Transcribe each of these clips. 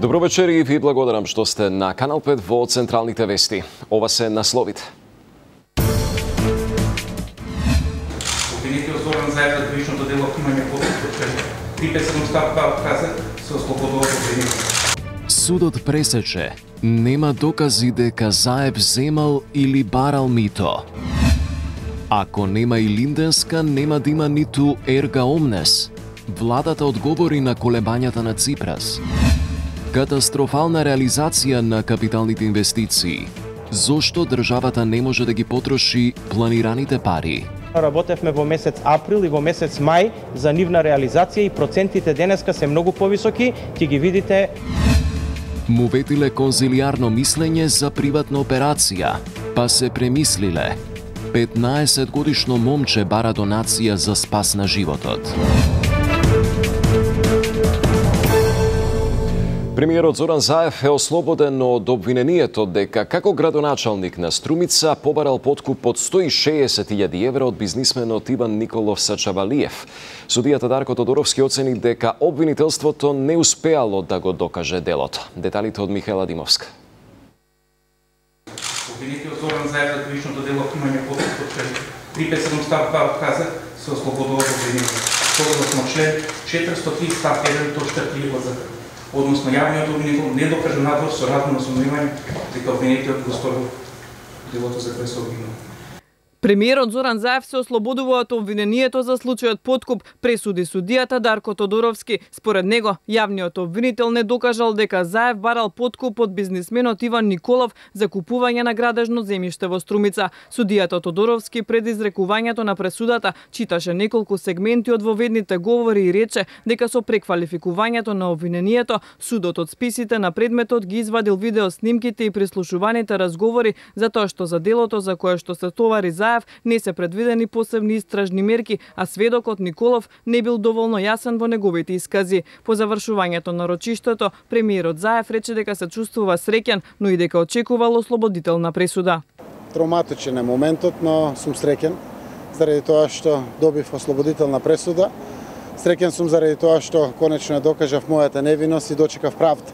Добро вечер и ви благодарам што сте на Канал 5 во Централните вести. Ова се насловите. Обвинетиот Зоран Заев за кривичното дело примање постапок 357 став 2 отказа се ослободува од обвинение. Судот пресече, нема докази дека Заев земал или барал мито. Ако нема и Линденска, нема да има ниту Ерга Омнес. Владата одговори на колебањата на Ципрас. Катастрофална реализација на капиталните инвестиции. Зошто државата не може да ги потроши планираните пари? Работевме во месец април и во месец мај за нивна реализација и процентите денеска се многу повисоки, ќе ги видите. Му ветиле конзилиарно мислење за приватна операција, па се премислиле. 15 годишно момче бара донација за спас на животот. Премиерот Зоран Заев е ослободен од обвинението дека како градоначалник на Струмица побарал подкуп од 160.000 евра од бизнисменот Иван Николов Сачавалиев. Судијата Дарко Тодоровски оцени дека обвинителството не успеало да го докаже делото. Деталите од Михаела Димовска. Обвинетиот Зоран Заев за кривичното дело примање постапок 357 став 2 отказа се ослободува од обвинение. Согласно член 403 став 1 точка 3 од ЗК. Односно јавниот обвинител не докажа надвор со разумно сомневање дека обвинетиот го сторил делото за кое се обвинува. Премиерот Зоран Заев се ослободува од обвинението за случајот подкуп, пресуди судијата Дарко Тодоровски. Според него, јавниот обвинител не докажал дека Заев барал подкуп од бизнисменот Иван Николов за купување на градежно земјиште во Струмица. Судијата Тодоровски пред изрекувањето на пресудата читаше неколку сегменти од воведните говори и рече дека со преквалификувањето на обвинението, судот од списите на предметот ги извадил видеоснимките и прислушуваните разговори затоа што за делото за кое што се товари Заев не се предвидени посебни истражни мерки, а сведокот Николов не бил доволно јасен во неговите искази. По завршувањето на рочиштето, премиерот Заев рече дека се чувствува среќен, но и дека очекувал ослободителна пресуда. Травматичен е моментот, но сум среќен заради тоа што добив ослободителна пресуда. Среќен сум заради тоа што конечно докажав мојата невиност и дочекав правда.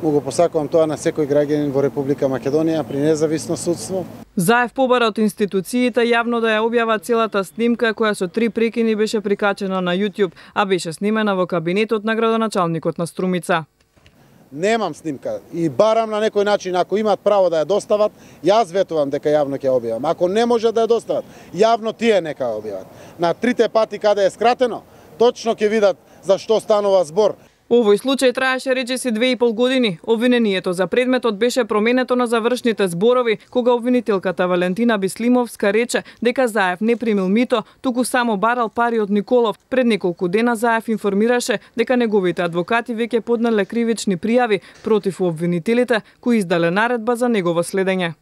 Му го посакувам тоа на секој граѓанин во Република Македонија при независно судство. Заев побара од институциите јавно да ја објава целата снимка која со 3 прекини беше прикачена на YouTube, а беше снимена во кабинетот на градоначалникот на Струмица. Немам снимка и барам на некој начин, ако имаат право да ја достават, јас ветувам дека јавно ќе ја објавам. Ако не може да ја достават, јавно тие нека ја објават. На 3 пати каде е скратено, точно ќе видат за што станува збор. Овој случај траеше речиси 2,5 години. Обвинението за предметот беше променето на завршните зборови, кога обвинителката Валентина Бислимовска рече дека Заев не примил мито, туку само барал пари од Николов. Пред неколку дена Заев информираше дека неговите адвокати веќе поднале кривични пријави против обвинителите, кои издале наредба за негово следење.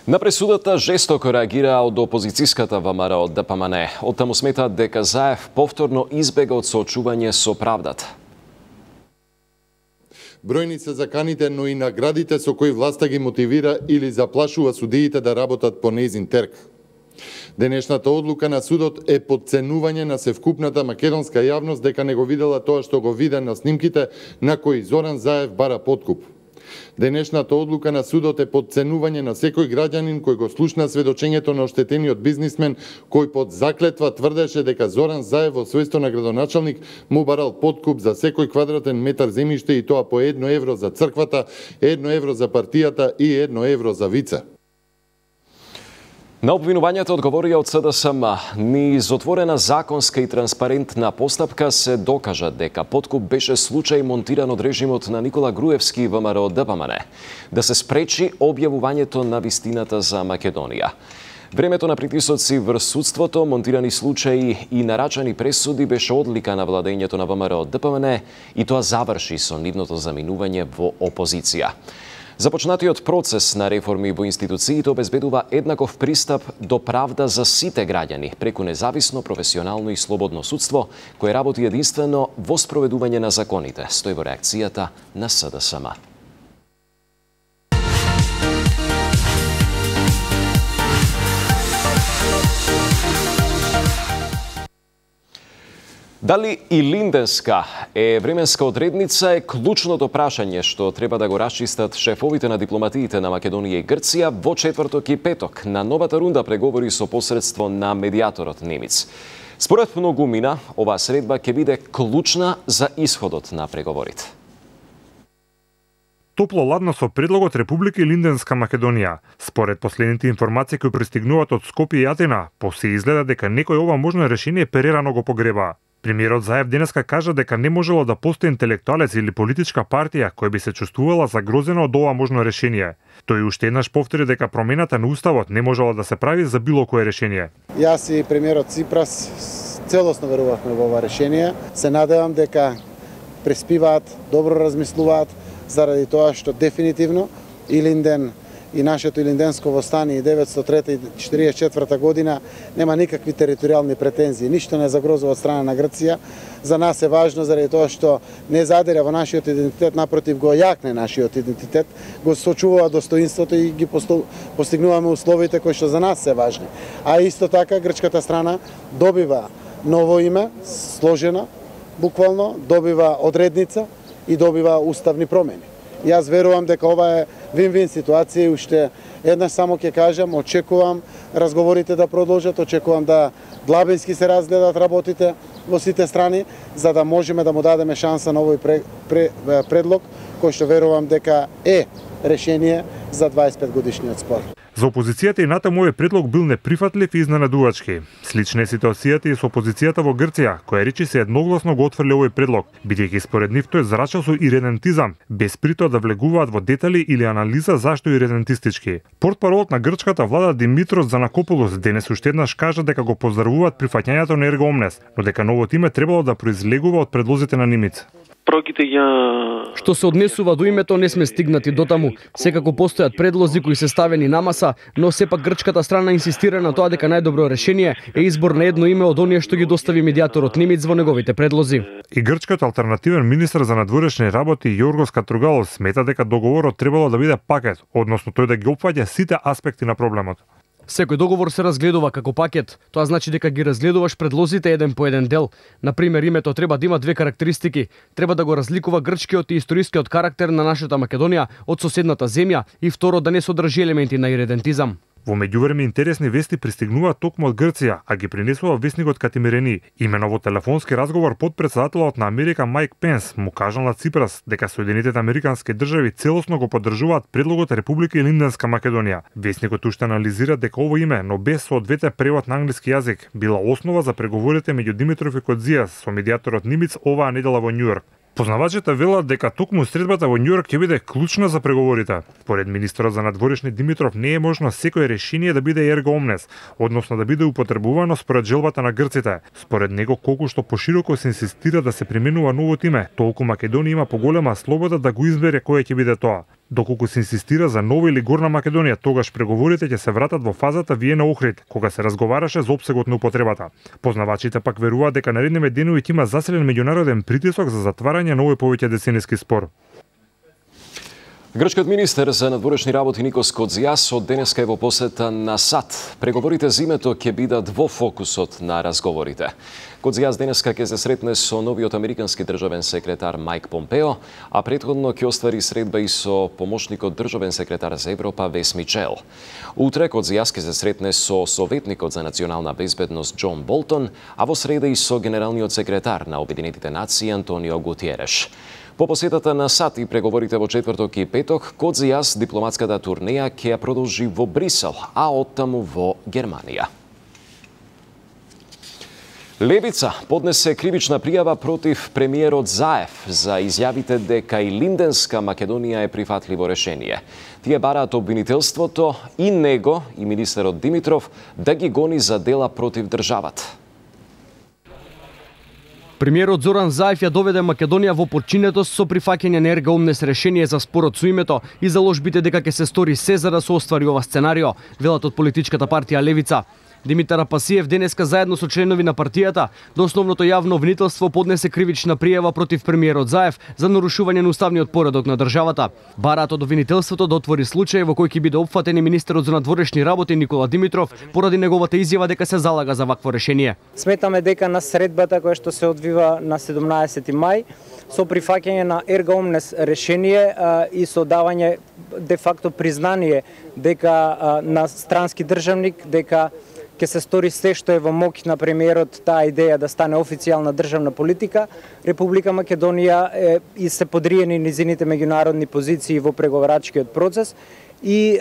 На пресудата жестоко реагира од опозицијската ВМРО ДПМН. Оттаму сметаат дека Заев повторно избега од соочување со правдата. Бројни се заканите, но и наградите со кои власта ги мотивира или заплашува судиите да работат по нејзин терк. Денешната одлука на судот е подценување на севкупната македонска јавност дека не го видела тоа што го виде на снимките на кои Зоран Заев бара подкуп. Денешната одлука на судот е подценување на секој граѓанин кој го слушна сведочењето на оштетениот бизнисмен кој под заклетва тврдеше дека Зоран Заев во својство на градоначалник му барал подкуп за секој квадратен метар земјиште и тоа по 1 евро за црквата, 1 евро за партијата и 1 евро за вице. На обвинувањата одговорија од СДСМ. Низ отворена законска и транспарентна постапка се докажа дека подкуп беше случај монтиран од режимот на Никола Груевски и ВМРО ДПМН, да се спречи објавувањето на вистината за Македонија. Времето на притисоци врз судството, монтирани случаи и нарачани пресуди беше одлика на владењето на ВМРО ДПМН и тоа заврши со нивното заминување во опозиција. Започнатиот процес на реформи во институциите обезбедува еднаков пристап до правда за сите граѓани преку независно, професионално и слободно судство кое работи единствено во спроведување на законите, стои во реакцијата на СДСМ. Дали илинденска временска одредница е клучното прашање што треба да го расчистат шефовите на дипломатиите на Македонија и Грција во четврток и петок на новата рунда преговори со посредство на медијаторот немец. Според многумина, оваа средба ќе биде клучна за исходот на преговорите. Топло ладно со предлогот Република Илинденска Македонија. Според последните информации кои пристигнуваат од Скопје и Атина, се изгледа дека некој ова можно решение перерано го погреба. Премиерот Заев денеска кажа дека не можело да постои интелектуалец или политичка партија која би се чувствувала загрозена од ова можно решение. Тој уште еднаш повтори дека промената на уставот не можела да се прави за било кое решение. Јас и премиерот Ципрас целосно верувавме во ова решение. Се надевам дека преспиваат, добро размислуваат, заради тоа што дефинитивно Илинден и нашето Илинденско востание 903-44 година нема никакви територијални претензии, ништо не загрозува од страна на Грција. За нас е важно заради тоа што не задира во нашиот идентитет, напротив го јакне нашиот идентитет, го сочувува достоинството и ги постигнуваме условите кои што за нас се важни. А исто така грчката страна добива ново име, сложена, буквално, добива одредница и добива уставни промени. Јас верувам дека ова е вин-вин ситуација и уште еднаш само ќе кажам, очекувам разговорите да продолжат, очекувам да длабински се разгледат работите во сите страни, за да можеме да му дадеме шанса на овој предлог, кој што верувам дека е решение за 25 годишниот спор. За опозицијата и натаму овој предлог бил неприфатлив и изненадувачки. Слична е ситуацијата и со опозицијата во Грција, која речи се едногласно го отфрли овој предлог, бидејќи според нив тој зрачал со иредентизам, без притоа да влегуваат во детали или анализа зашто иредентистички. Портпаролот на грчката влада Димитрос Занакополос денес уште еднаш кажа дека го поздравуваат прифаќањето на Ерго Омнес, но дека новото име требало да произлегува од предлозите на Нимица. Што се однесува до името, не сме стигнати до таму. Секако постојат предлози кои се ставени на маса, но сепак грчката страна инсистира на тоа дека најдобро решение е избор на едно име од оние што ги достави медијаторот немец во неговите предлози. И грчката алтернативен министер за надворешни работи Јоргос Катругалос смета дека договорот требало да биде пакет, односно тој да ги опфаќа сите аспекти на проблемот. Секој договор се разгледува како пакет. Тоа значи дека ги разгледуваш предлозите еден по еден дел. Например, името треба да има две карактеристики. Треба да го разликува грчкиот и историскиот карактер на нашата Македонија од соседната земја и второ да не содржи елементи на иредентизам. Во меѓувреме интересни вести пристигнуваат токму од Грција, а ги принесува вестникот Катимирени. Имено во телефонски разговор подпредседателот на Америка Майк Пенс му кажал на Ципрас дека Соединетите американски држави целосно го поддржуваат предлогот Република Илинденска Македонија. Вестникот уште анализира дека ово име, но без соодветен превод на англиски јазик, била основа за преговорите меѓу Димитров и Кодзијас со медијаторот Нимиц оваа недела во Њујорк. Познавачите велат дека токму средбата во Њујорк ќе биде клучна за преговорите. Поред министерот за надворешни Димитров не е можно секој решение да биде ерго омнес, односно да биде употребувано според желбата на грците. Според него колку што пошироко се инсистира да се применува новото име, толку Македонија има поголема слобода да го избере кој ќе биде тоа. Доколку се инсистира за Нова или Горна Македонија, тогаш преговорите ќе се вратат во фазата Виена Охрид, кога се разговараше за опсегот на употребата. Познавачите пак веруваат дека наредниве денови ќе има заселен меѓународен притисок за затварање на овој повеќе децениски спор. Грчкиот министер за надворешни работи Никос Кодзијас од денеска е во посета на САД. Преговорите за името ќе бидат во фокусот на разговорите. Кодзијас денеска ќе се сретне со новиот американски државен секретар Мајк Помпео, а претходно ќе оствари средба и со помошникот државен секретар за Европа Вес Мичел. Утре Кодзијас ќе се сретне со советникот за национална безбедност Џон Болтон, а во среда и со генералниот секретар на Обединетите нации Антонио Гутиереш. По посетата на САД и преговорите во четврток и петок, Кодзијас дипломатската турнеја ќе ја продолжи во Брисел, а оттаму во Германија. Левица поднесе кривична пријава против премиерот Заев за изјавите дека Илинденска Македонија е прифатливо решение. Тие бараат обвинителството и него и министерот Димитров да ги гони за дела против државата. Премиерот Зоран Заев ја доведе Македонија во подчинетост со прифаќање на ерга омнес решение за спорот со името и заложбите дека ќе се стори се за да се оствари ова сценарио, велат од политичката партија Левица. Димитар Апасиев денеска заедно со членови на партијата до основното јавно обвинителство поднесе кривична пријава против премиерот Заев за нарушување на уставниот поредок на државата. Бараат од обвинителството да отвори случај во кој ќе биде опфатен и министерот за надворешни работи Никола Димитров поради неговата изјава дека се залага за вакво решение. Сметаме дека на средбата која што се одвива на 17 мај со прифаќање на ерга омнес решение и со давање де факто признание дека на странски државник дека ќе се стори се што е во моќ на премиерот таа идеја да стане официјална државна политика, Република Македонија и се подриени низините меѓународни позиции во преговарачкиот процес и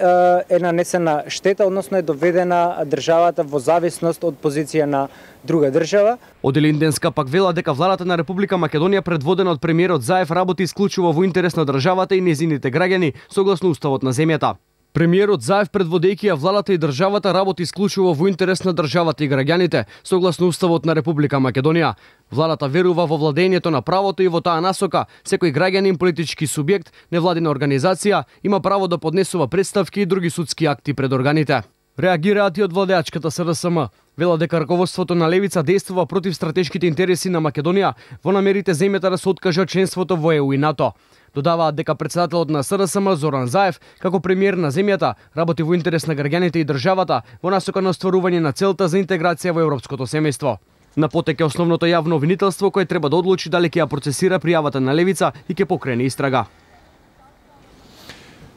е нанесена штета, односно е доведена државата во зависност од позиција на друга држава. Од Илинденска пак вела дека владата на Република Македонија предводена од премиерот Заев работи исклучиво во интерес на државата и незините граѓани согласно уставот на земјата. Премиерот Заев предводејќи ја владата и државата работи исклучиво во интерес на државата и граѓаните согласно уставот на Република Македонија. Владата верува во владењето на правото и во таа насока секој граѓанин, политички субјект, невладина организација има право да поднесува представки и други судски акти пред органите. Реагираат и од владеачката СДСМ. Вела дека раководството на левица действува против стратешките интереси на Македонија во намерите земјата да се откаже од членството во ЕУ и НАТО. Додаваат дека председателот на СДСМ Зоран Заев, како премиер на земјата, работи во интерес на граѓаните и државата во насока на остварување на целта за интеграција во европското семејство. На потек е основното јавно обвинителство кој треба да одлучи дали ќе ја процесира пријавата на левица и ќе покрене истрага.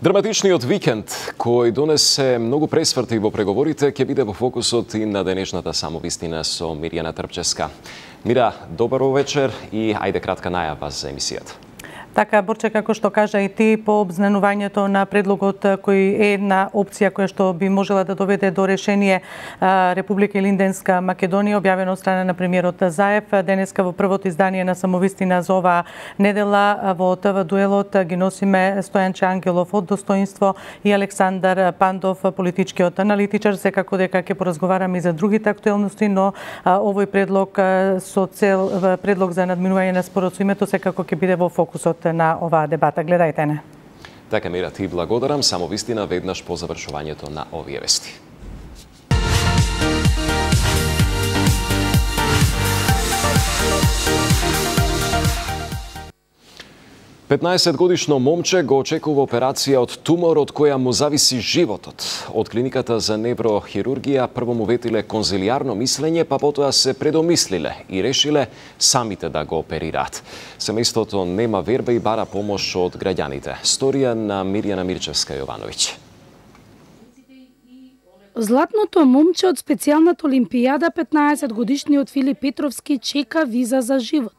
Драматичниот викенд, кој донесе многу пресврти во преговорите, ќе биде во фокусот и на денешната самовистина со Мирјана Трпчевска. Мира, добар вечер и ајде кратка најава за емисијата. Така, Борче, како што кажа и ти, по обзнанувањето на предлогот кој е една опција која што би можела да доведе до решение Република Илинденска Македонија, објавено од страна на премиерот Заев. Денеска во првото издание на самовистина за оваа недела во ТВ дуелот ги носиме Стојанче Ангелов од Достоинство и Александар Пандов, политичкиот аналитичар. Секако дека ќе поразговараме и за другите актуелности, но овој предлог со цел предлог за надминување на споразумето секако ќе биде во фокусот на оваа дебата. Гледајте не. Така, Мира, ти благодарам. Само вистина веднаш по завршувањето на овие вести. Петнаесетгодишно момче го очекува операција од тумор од која му зависи животот. Од клиниката за неврохирургија прво му ветиле конзилијарно мислење, па потоа се предомислиле и решиле самите да го оперираат. Семејството нема верба и бара помош од граѓаните. Сторија на Мирјана Мирчевска Јовановиќ. Златното момче од специјалната олимпијада, 15-годишниот Филип Петровски, чека виза за живот.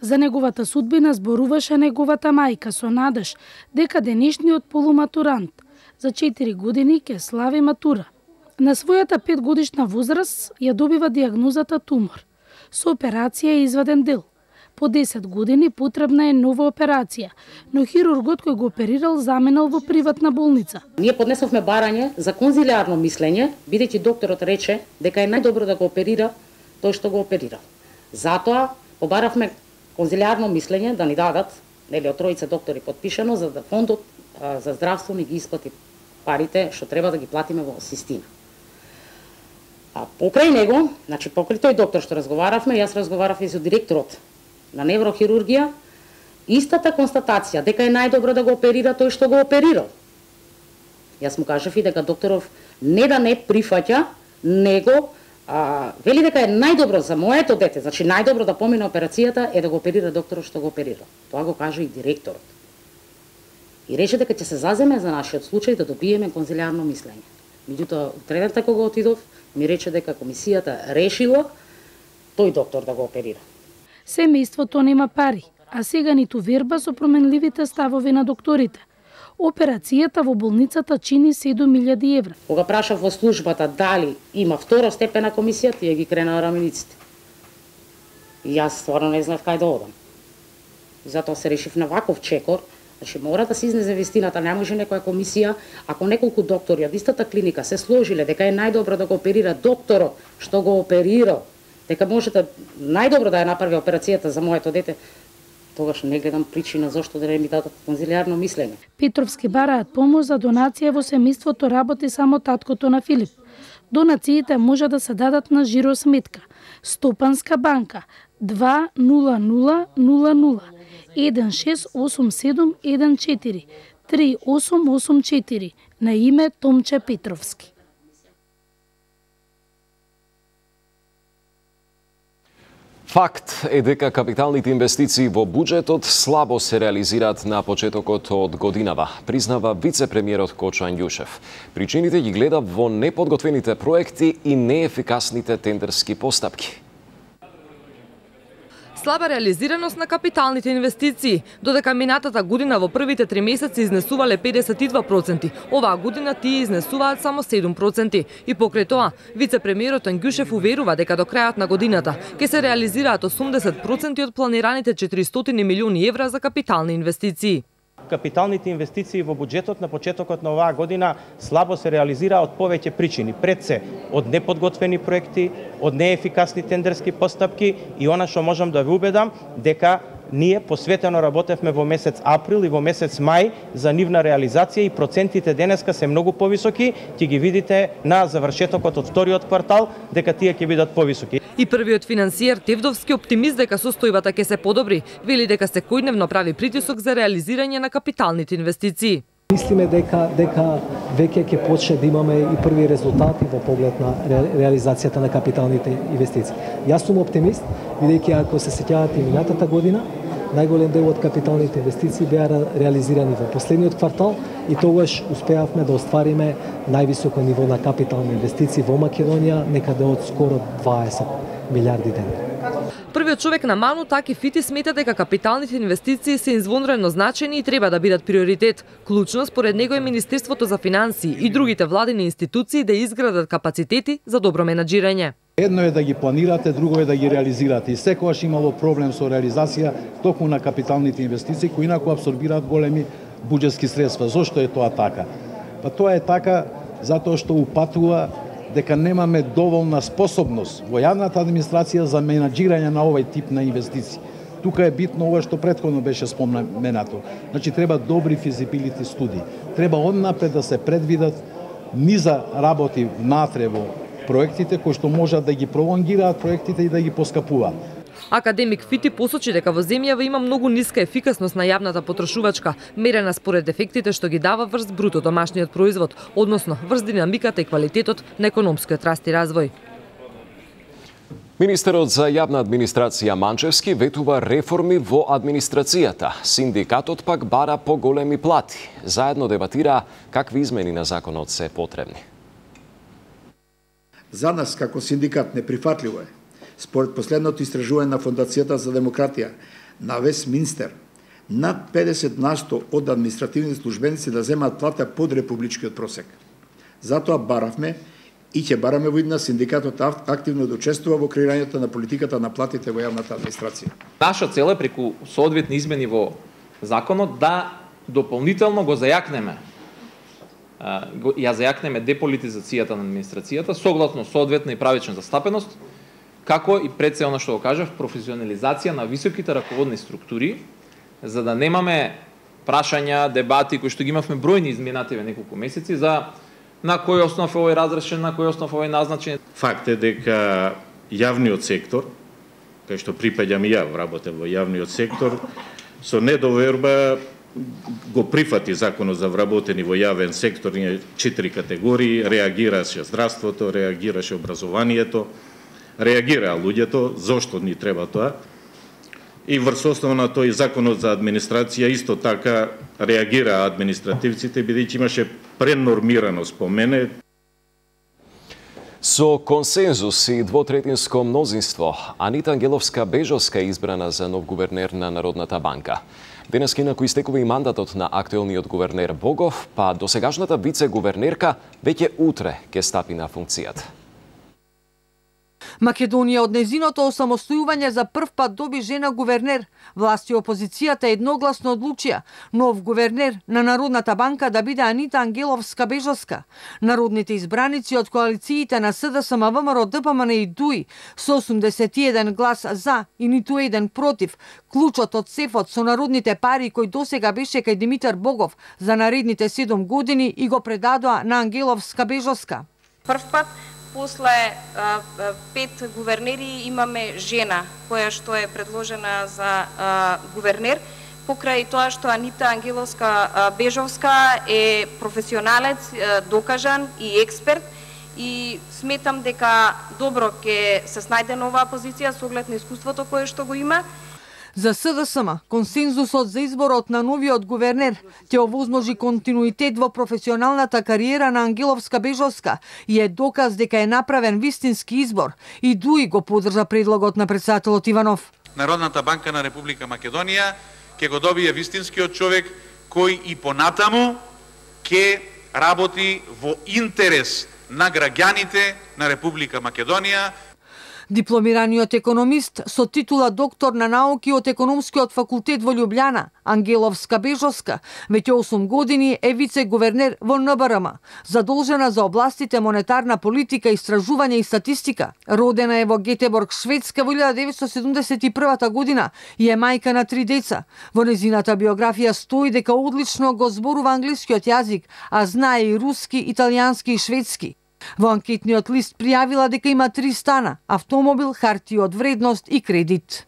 За неговата судбина зборуваше неговата мајка со надеж дека денешниот полуматурант за 4 години ќе слави матура. На својата 5-годишна возраст ја добива дијагнозата тумор. Со операција е изваден дел. По 10 години потребна е нова операција, но хирургот кој го оперирал заменал во приватна болница. Ние поднесовме барање за конзилијарно мислење, бидејќи докторот рече дека е најдобро да го оперира тој што го оперира. Затоа побаравме конзилијарно мислење да ни дадат, нели, од тројца доктори подпишано, за да фондот за здравство ни ги исплати парите што треба да ги платиме во Систина. А покрај него, значи покрај тој доктор што разговаравме, јас разговарав и со директорот на неврохирургија, истата констатација дека е најдобро да го оперира тој што го оперирал. Јас му кажав и дека докторов не да не прифаќа, него вели дека е најдобро за моето дете, значи најдобро да помине операцијата е да го оперира докторот што го оперира. Тоа го кажа и директорот. И рече дека ќе се заземе за нашиот случај да добиеме конзилијарно мислење. Меѓутоа, утредата кога отидов, ми рече дека комисијата решила тој доктор да го оперира. Семејството нема пари, а сега ниту верба со променливите ставови на докторите. Операцијата во болницата чини 7.000 евра. Кога прашав во службата дали има второстепена комисија, тие ги кренаа рамениците. И јас стварно не знаев кај да одам. Затоа се решив на ваков чекор, значи мора да се изнесе вистината, не може некоја комисија, ако неколку доктори од истата клиника се сложиле дека е најдобро да го оперира докторот што го оперирал, дека може да најдобро да ја направи операцијата за моето дете, тогаш не гледам причина зошто да не ми дадат конзилијарно мислење. Петровски бараат помош за донација, во семејството работи само таткото на Филип. Донациите може да се дадат на жиросметка Стопанска банка 20000 168714 3884 на име Томче Петровски. Факт е дека капиталните инвестиции во буџетот слабо се реализираат на почетокот од годинава, признава вице-премиерот Кочо Андјушев. Причините ги гледа во неподготвените проекти и неефикасните тендерски постапки. Слаба реализираност на капиталните инвестиции, додека минатата година во првите 3 месеци изнесувале 52%, оваа година тие изнесуваат само 7%. И покрај тоа, вице-премиерот Андјушев уверува дека до крајот на годината ќе се реализираат 80% од планираните 400 милиони евра за капитални инвестиции. Капиталните инвестиции во буџетот на почетокот на оваа година слабо се реализира од повеќе причини. Пред се од неподготвени проекти, од неефикасни тендерски постапки и она што можам да ве убедам дека ние посветено работевме во месец април и во месец мај за нивна реализација и процентите денеска се многу повисоки, ќе ги видите на завршетокот од вториот квартал дека тие ќе бидат повисоки. И првиот финансиер Тевдовски оптимист дека состојбата ќе се подобри, вели дека секојдневно прави притисок за реализирање на капиталните инвестиции. Мислиме дека веќе ќе почне да имаме и први резултати во поглед на реализацијата на капиталните инвестиции. Јас сум оптимист, бидејќи ако се сеќавате и минатата година, најголем дел од капиталните инвестиции беа реализирани во последниот квартал и тогаш успеавме да оствариме највисоко ниво на капитални инвестиции во Македонија, некаде од скоро 20 милиарди денари. Првиот човек на Ману, Таки Фити, смета дека капиталните инвестиции се извонредно значени и треба да бидат приоритет. Клучно според него е Министерството за финансии и другите владини институции да изградат капацитети за добро менаџирање. Едно е да ги планирате, друго е да ги реализирате. И секогаш имало проблем со реализација токму на капиталните инвестиции кои инаку абсорбираат големи буџетски средства. Зошто е тоа така? Па тоа е така затоа што упатува дека немаме доволна способност во јавната администрација за менаџирање на овој тип на инвестиции. Тука е битно ова што претходно беше споменато. Значи треба добри физибилити студии. Треба однапред да се предвидат низа работи внатре во проектите кои што можат да ги пролонгираат проектите и да ги поскапуваат. Академик Фити посочи дека во земјава има многу ниска ефикасност на јавната потрошувачка, мерена според ефектите што ги дава врз бруто домашниот производ, односно врз динамиката и квалитетот на економскиот раст и развој. Министерот за јавна администрација Манчевски ветува реформи во администрацијата. Синдикатот пак бара поголеми плати. Заедно дебатира какви измени на законот се потребни. За нас како синдикат неприфатливо е, според последното истражување на Фондацијата за демократија на Вестминстер, над 50% од административни службеници да земаат плата под републичкиот просек. Затоа баравме и ќе бараме во идна синдикатот активно да учествува во креирањето на политиката на платите во јавната администрација. Наша цел е преку соодветни измени во законот да дополнително го зајакнеме деполитизацијата на администрацијата согласно соодветна и правична застапеност, како и пред се она што го кажав, професионализација на високите раководни структури, за да немаме прашања, дебати кои што ги имавме бројни изминативе неколку месеци за на кој основ е овој разрешен, на кој основ овој назначен. Факт е дека јавниот сектор, кај што припаѓам и ја, работев во јавниот сектор, со недоверба го прифати законот за вработени во јавен сектор, 4 категории, реагираше здравството, реагираше образованието, реагираа луѓето, зошто ни треба тоа. И врз основа на тој законот за администрација исто така реагираа административците, бидејќи имаше пренормираност по мене. Со консензус и двотретинско мнозинство, Анита Ангеловска-Бежовска е избрана за нов гувернер на Народната банка. Денес инаку истекува и мандатот на актуелниот гувернер Богов, па досегашната вице-гувернерка веќе утре ќе стапи на функцијата. Македонија од незиното осамостојување за прв пат доби жена гувернер. Власти и опозицијата едногласно одлучија нов гувернер на Народната банка да биде Анита Ангеловска-Бежовска. Народните избраници од коалициите на СДСМ, ВМРО, ДПМН и ДУИ со 81 глас за и ниту еден против, клучот од сефот со народните пари кој досега беше кај Димитар Богов за наредните 7 години и го предадоа на Ангеловска-Бежовска. Прв пат после 5 гувернери имаме жена која што е предложена за гувернер, покрај тоа што Анита Ангеловска-Бежовска е професионалец, докажан и експерт, и сметам дека добро ќе се снајде на оваа позиција со оглед на искуството кое што го има. За СДСМ, консензусот за изборот на новиот гувернер ќе овозможи континуитет во професионалната кариера на Ангеловска-Бежовска и е доказ дека е направен вистински избор, и ДУИ го поддржа предлогот на претседателот Иванов. Народната банка на Република Македонија ќе го добие вистинскиот човек кој и понатаму ќе работи во интерес на граѓаните на Република Македонија. Дипломираниот економист со титула доктор на науки од економскиот факултет во Љубљана, Ангеловска-Бежовска, веќе 8 години е вице-гувернер во НБРМ, задолжена за областите монетарна политика, истражување и статистика. Родена е во Гетеборг, Шведска во 1971 година и е мајка на 3 деца. Во незината биографија стои дека одлично го зборува англискиот јазик, а знае и руски, италијански и шведски. Во анкетниот лист пријавила дека има 3 стана, автомобил, хартии од вредност и кредит.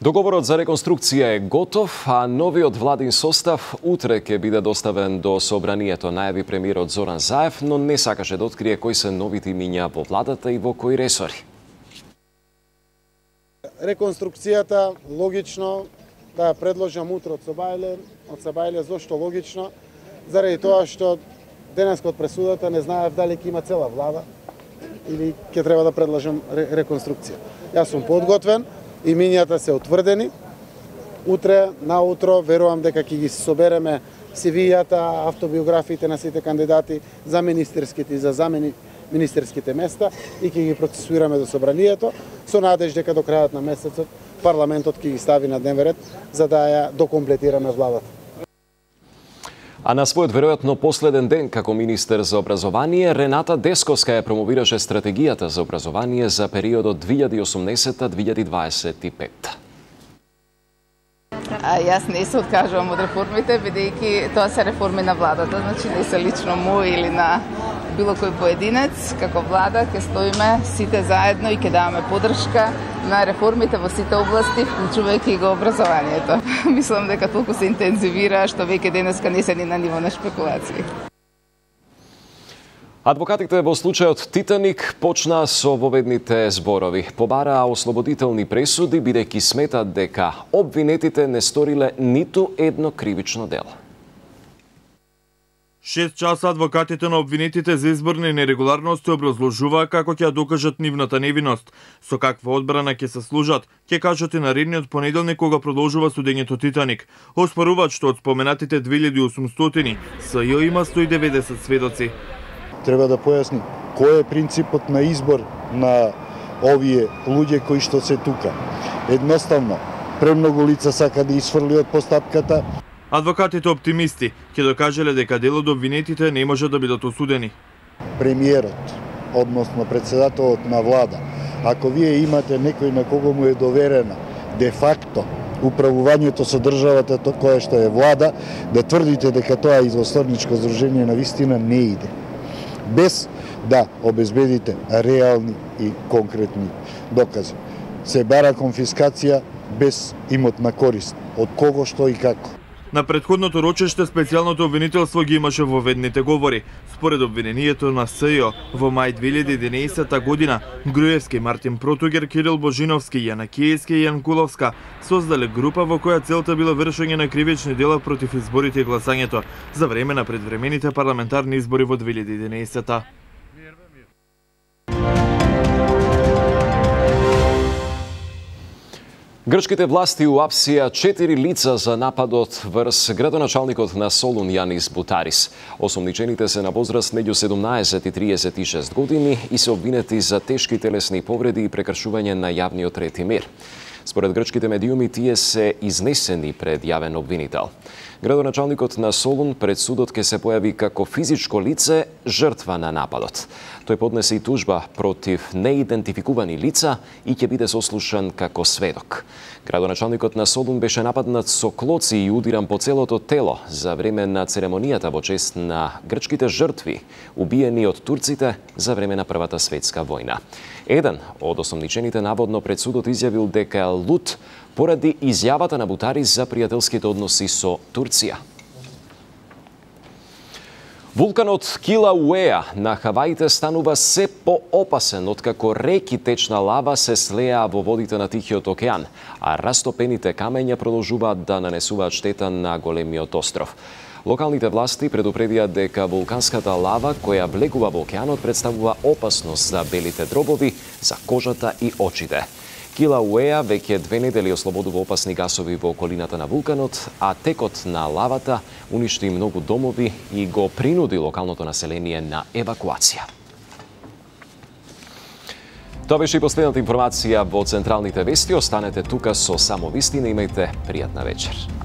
Договорот за реконструкција е готов, а новиот владин состав утре ќе биде доставен до собранието, најави премиерот Зоран Заев, но не сакаше да открие кои се новите имиња во владата и во кои ресори. Реконструкцијата логично да ја предложам утре од Сабајле, зошто логично? Заради тоа што денеска од пресудата не знаев дали ќе има цела влада или ќе треба да предложам реконструкција. Јас сум подготвен, имињата се утврдени. Утре, наутро, верувам дека ќе ги собереме CV-јата, автобиографиите на сите кандидати за министерските и за замени-министерските места и ќе ги процесуираме до собранието, со надеж дека до крајот на месецот парламентот ќе ги стави на дневен ред за да ја докомплетираме владата. А на својот веројатно последен ден како министер за образование, Рената Десковска ја промовираше стратегијата за образование за периодот 2018-2025. Јас не се откажувам од реформите, бидејќи тоа се реформи на владата, значи не се лично мој или на било кој поединец. Како влада ќе стоиме сите заедно и ќе даваме поддршка на реформите во сите области, вклучувајќи го образованието. Мислам дека толку се интензивира што веќе денеска не се ни на ниво на шпекулации. Адвокатите во случајот Титаник почнаа со воведните зборови. Побараа ослободителни пресуди, бидејќи сметат дека обвинетите не сториле ниту едно кривично дело. 6 часа адвокатите на обвинетите за изборни нерегуларности образложуваа како ќе ја докажат нивната невиност. Со каква одбрана ќе се служат, ќе кажат и наредниот понеделник кога продолжува судењето Титаник. Оспоруваат што од споменатите 2800 СЈ има 190 сведоци. Треба да појасни кој е принципот на избор на овие луѓе кои што се тука. Едноставно, премногу лица сака да изфрли од постапката. Адвокатите оптимисти ќе докажале дека дел од обвинетите не може да бидат осудени. Премиерот, односно председателот на влада, ако вие имате некој на кого му е доверена де факто управувањето со државата која што е влада, да тврдите дека тоа извосторничко здружение на вистина не иде, без да обезбедите реални и конкретни докази. Се бара конфискација без имотна корист, од кого, што и како. На претходното рочеште специјалното обвинителство ги имаше воведните говори. Според обвинението на СЈ, во мај 2011 година, Груевски, Мартин Протугер, Кирил Божиновски, Јана Киевски и Јан Куловска создале група во која целта била вршење на кривични дела против изборите и гласањето за време на предвремените парламентарни избори во 2011. Грчките власти уапсија 4 лица за нападот врз градоначалникот на Солун Јанис Бутарис. Осомничените се на возраст меѓу 17 и 36 години и се обвинети за тешки телесни повреди и прекршување на јавниот ред и мир. Според грчките медиуми, тие се изнесени пред јавен обвинител. Градоначалникот на Солун пред судот ќе се појави како физичко лице жртва на нападот. Тој поднесе и тужба против неидентификувани лица и ќе биде сослушан како сведок. Градоначалникот на Солун беше нападнат со клоци и удиран по целото тело за време на церемонијата во чест на грчките жртви, убиени од турците за време на Првата светска војна. Еден од осомничените наводно пред судот изјавил дека е лут поради изјавата на Бутари за пријателските односи со Турција. Вулканот Килауеа на Хаваите станува се поопасен откако реки течна лава се слеа во водите на Тихиот океан, а растопените камења продолжуваат да нанесуваат штета на големиот остров. Локалните власти предупредија дека вулканската лава која влегува во океанот представува опасност за белите дробови, за кожата и очите. Килауеа веќе 2 недели ослободува опасни гасови во околината на вулканот, а текот на лавата уништи многу домови и го принуди локалното население на евакуација. Тоа беше и последната информација во Централните вести. Останете тука со само вистина, имајте пријатна вечер.